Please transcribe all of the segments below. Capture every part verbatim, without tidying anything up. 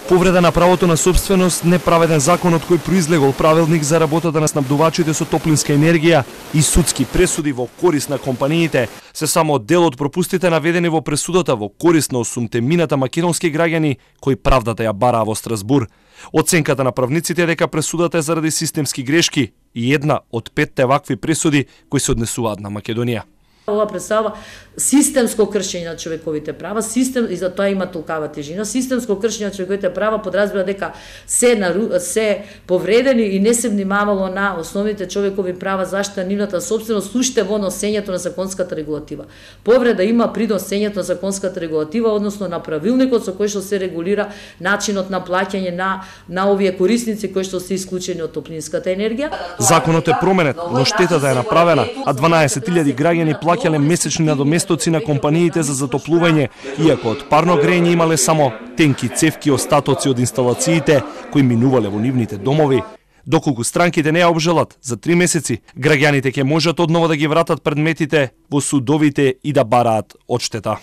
Повреда на правото на собственост, неправеден закон од кој произлегол правилник за работата на снабдувачите со топлинска енергија и судски пресуди во корист на компаниите се само дел од пропустите наведени во пресудата во корист на осумте мината македонски граѓани кои правдата ја бараа во Страсбур. Оценката на правниците е дека пресудата е заради системски грешки и една од петте вакви пресуди кои се однесуваат на Македонија. Ова представува системско кршење на човековите права, систем и за тоа има толкава тежина. Системско кршење на човековите права подразбира дека се нару, се повредени и не се внимавало на основните човекови права, заштита нивната собственост, уште во носењето на законската регулатива. Повреда има при носењето на законската регулатива, односно на правилникот со кој што се регулира начинот на плаќање на на овие корисници кои што се исклучени од топлинската енергија. Законот е променет, но штетата е направена, а дванаесет илјади граѓани плаќале месечни надоместоци на компаниите за затоплување, иако од парно грење имале само тенки цевки остатоци од инсталациите кои минувале во нивните домови. Доколку странките не ја обжалат за три месеци, граѓаните ќе можат одново да ги вратат предметите во судовите и да бараат одштета.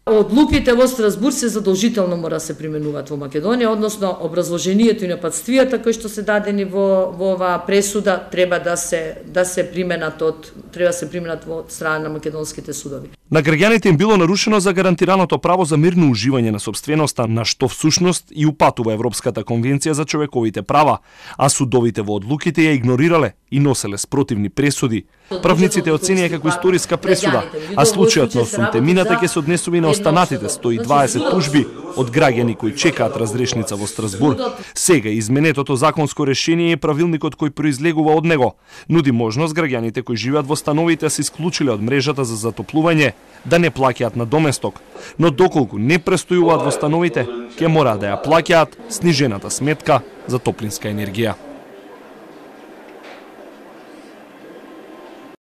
Одлуките во Страсбур се задолжително мора се применуваат во Македонија, односно образложението и нападствијата кои што се дадени во во оваа пресуда треба да се да се применат од треба да се применат во страна на македонските судови. На граѓаните им било нарушено за гарантираното право за мирно уживање на сопственоста, на што всушност и упатува Европската конвенција за човековите права, а судовите во одлуките ја игнорирале и носеле спротивни пресуди. Правниците оценија како историска пресуда, а случајот на осумте мината ќе се однесува и на останатите сто и дваесет тужби од граѓани кои чекаат разрешница во Страсбур. Сега изменетото законско решение и правилникот кој произлегува од него нуди можност граѓаните кои живеат во становите се исклучиле од мрежата за затоплување да не плаќаат на доместок, но доколку не престојуваат во становите, ќе мора да ја плаќаат снижената сметка за топлинска енергија.